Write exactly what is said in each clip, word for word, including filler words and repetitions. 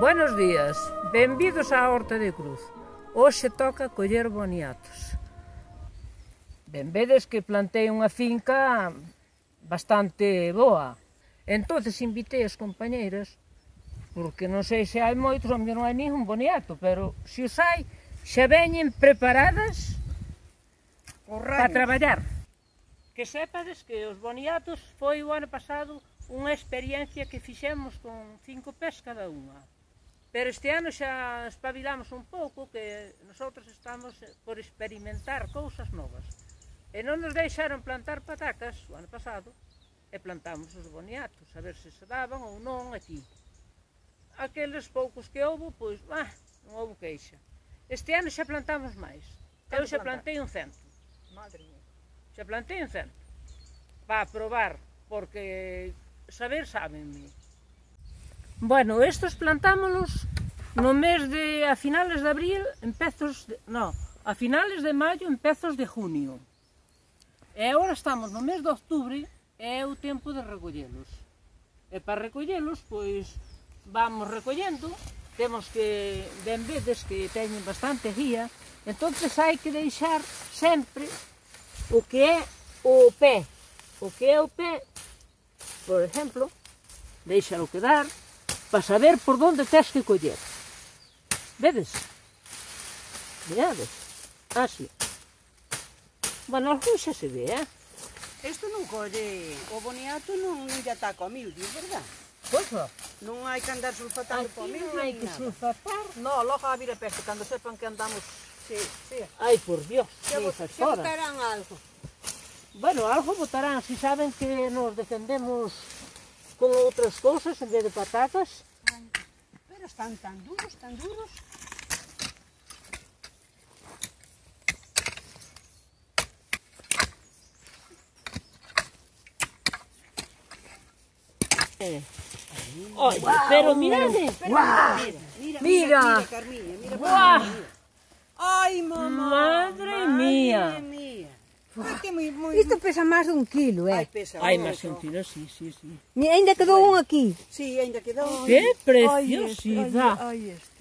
Buenos días, benvidos á Horta de Cruz. Hoxe toca coller boniatos. Ben vedes que plantei unha finca bastante boa. Entonces invitei as compañeiras, porque non sei se hai moitos, onde non hai ningún boniato, pero se os hai, xa veñen preparadas para traballar. Que sepades que os boniatos foi o ano pasado unha experiencia que fixemos con cinco pés cada unha. Pero este ano xa espabilamos un pouco, que nosotros estamos por experimentar cousas novas. E non nos deixaron plantar patacas o ano pasado, e plantamos os boniatos, a ver se se daban ou non aquí. Aqueles poucos que houve, pois, ah, non houve queixa. Este ano xa plantamos máis. Eu xa plantei un cento. Madre mía. Xa plantei un cento. Para probar, porque saber sábenme. Bueno, estos plantámonos no mes de, a finales de abril, empezos de, no, a finales de maio, empezos de junio. E agora estamos no mes de octubre, é o tempo de recollelos. E para recollelos, pois, vamos recollendo, temos que, ben vedes que teñen bastante guía, entonces hai que deixar sempre o que é o pé. O que é o pé, por exemplo, deixalo quedar, para saber por onde tens que coller. Vedes? Veades? Así. Bueno, algún xa se ve, eh? Isto non colle, o boniato non lle ataca ao mildio, verdad? Pois non. Non hai que andar sulfatando Aquí para o mildio non hai ni que nada. sulfatar. No, logo a vir a peste, cando sepan que andamos... Sí, sí. Ai, por Dios, Xa que bot- esas xa horas. botarán algo. Bueno, algo botarán, si saben que nos defendemos con outras cousas en vez de patatas. Pero están tan duros, tan duros. Eh. Oi, pero mirade. Mira, mira, mira, Mira. mira, Carmiña, mira, Guau. mira. Ai, mamá. Madre mía. Madre mía. Ai, que moi, moi... Isto pesa máis dun kilo, Ai, eh? pesa Ai, moito. máis un tiro, sí, sí, sí. E ainda quedou un aquí. Sí, ainda quedou. Que Ai, preciosidade. Ai, este.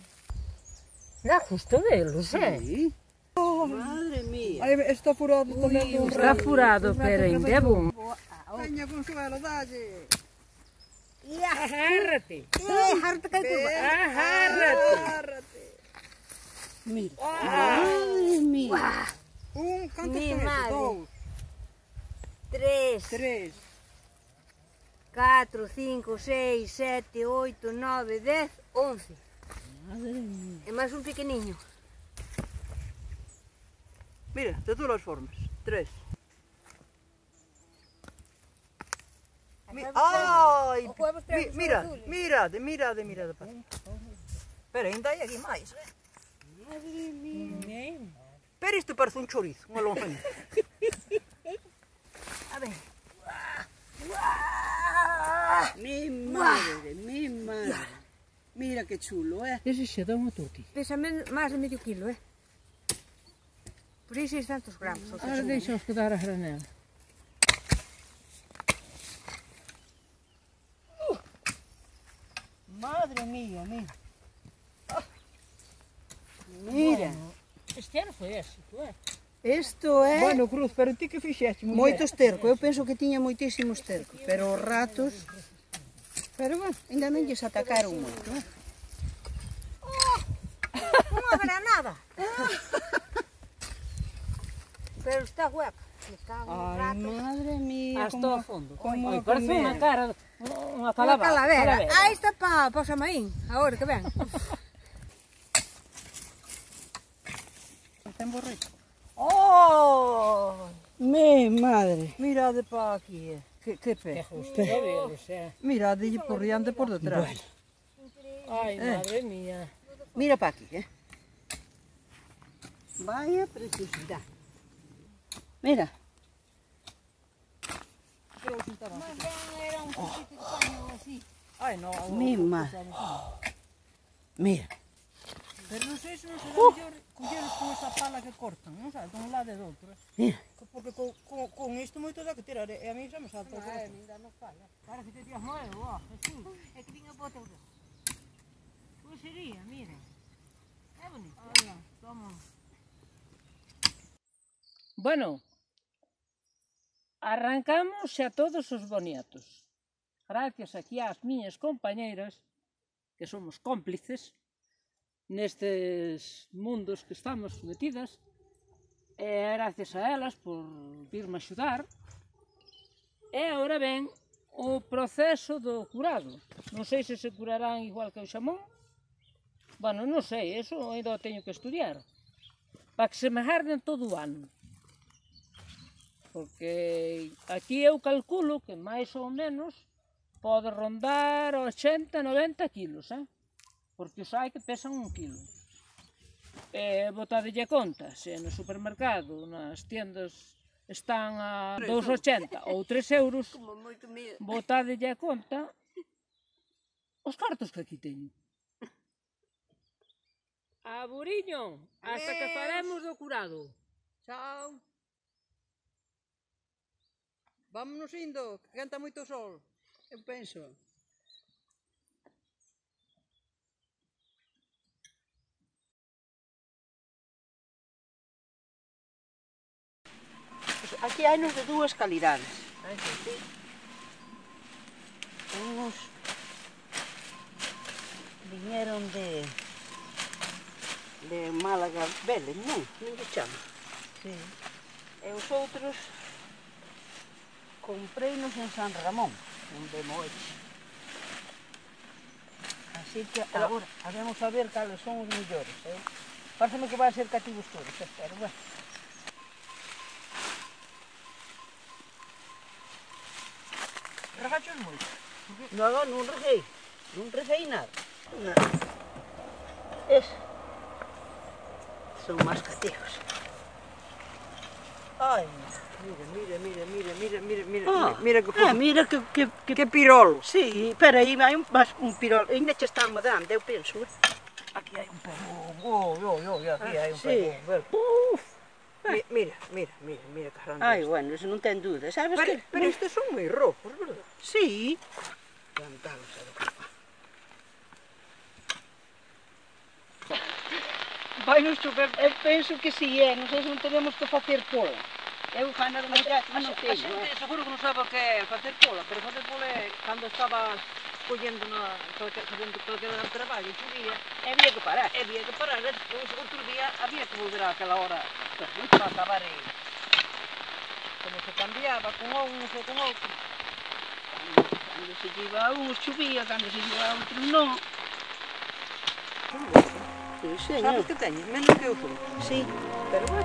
Dá gusto velos, eh? Sí. Madre mía. Aí está furado tamén con Está furado, pero ainda é bom. Veña Consuelo, dalle. Agárrate. Eh, harta que tu. Agárrate. Agárrate. Mira. Madre mía. Un, cantos Mi son madre. esos? Dous, Tres, tres. catro, cinco, seis, sete, oito, nove, dez, once. Madre mía. E máis un pequeniño. Mira, de todas as formas. Tres. Mi- Ai, O huevos mi- traen mira, azules. mirade, mirade, mirade. pa. Pero ainda hai aquí máis, eh? Madre mía. Pero isto parece un chorizo, unha lonjanha. A ver. Mi madre, mi madre. Mira que chulo, eh. Ese xe dá unha tortilla. Pesa men- máis de medio kilo, eh? Por aí seiscentos gramos. ou Ahora seja, deixaos quedar a granel. Madre mía, mira. Mira. Este ano foi éxito, eh? Isto é Bueno, Cruz, pero ti que fixeste? moito esterco. Eu penso que tiña moitísimo esterco, pero os ratos... Pero bueno, ainda non lles atacaron moito, eh. Unha granada. Pero está hueca. Está un Ai, rato. madre mía. Hasta como- ao fondo. como Oi, parece comer. unha cara, unha Unha calavera. calavera. Ah, está para pa o Samaín. Agora que ven. Ten borrito. Oh! Mi madre. Mirade pa aquí, eh. Que, que Que pé. justo velos, eh? Mirade por riante por detrás. Ai, madre mía. Mira para aquí, eh. Vaya preciosidade. Mira. Era un poquito de paño así. Ai, no. Mi madre. Mira. Pero non sei se non se dá mellor colleres con esa pala que cortan, non sabes, dun lado e do outro. eh. Mira. Porque con, con, con isto moito dá que tirar, e a mí xa me salta o corazón. Ainda non falla. Parece que tías nuevo, ó, Jesús. É que vin a bota. Pois sería, miren. É bonito. Hola, toma. Bueno, arrancamos xa todos os boniatos. Gracias aquí ás miñas compañeiras, que somos cómplices nestes mundos que estamos metidas, e gracias a elas por virme axudar. E agora ven o proceso do curado. Non sei se se curarán igual que o xamón. Bueno, non sei, eso ainda o teño que estudiar. Para que se me garden todo o ano. Porque aquí eu calculo que máis ou menos pode rondar ochenta, noventa kilos, eh? Porque os hai que pesan un kilo. E botadelle conta, se no supermercado, nas tiendas están a dous ochenta ou tres euros, botadelle conta os cartos que aquí teño. Aburiño, hasta que faremos do curado. Chao. Vámonos indo, que canta moito o sol. Eu penso. Aquí hai nos de dúas calidades. Uns viñeron de de Málaga Vélez, non? Non lle chama. Sí. E os outros compreinos en San Ramón, onde Moeche. Así que agora habemos a ver cales son os mellores. Eh? Párseme que vai ser cativos todos, eh? Pero bueno. Regachos moito. Non, non reguei, non reguei nada. Nada. Es. Son máis cativos. Ai, mira, mira, mira, mira, mira, mira, mira, Ah, mira que ah, mira que, que, que, que pirolo. Sí, pero aí vai un, un pirol. Ainda che están dando, eu penso. Eh? Aquí hai un pegón. Oh, oh, oh, aquí hai un sí. pegón. Ver. Uf. Mi- Mira, mira, mira, mira que grande. Ai, bueno, eso non ten dúda. Sabes Pero, que... pero estes son moi rojos, verdad? Sí. Cantalos a do papá. Vai nos chover, eu penso que si é, non sei se non tenemos que facer pola. Eu fana de manera que non A teño, xente eh. seguro que non sabe o que é facer pola, pero facer pola é cando estaba collendo na, facendo calquera gran traballo, chovía, E había que parar. e había que parar, e despois outro día había que volver àquela hora para acabar e como se cambiaba con uns e con outros. Cando se lleva a uns chovía, cando se lleva a outros non. Sí, Sabes señor. que teñen? Menos que eu son. Sí. Pero bueno,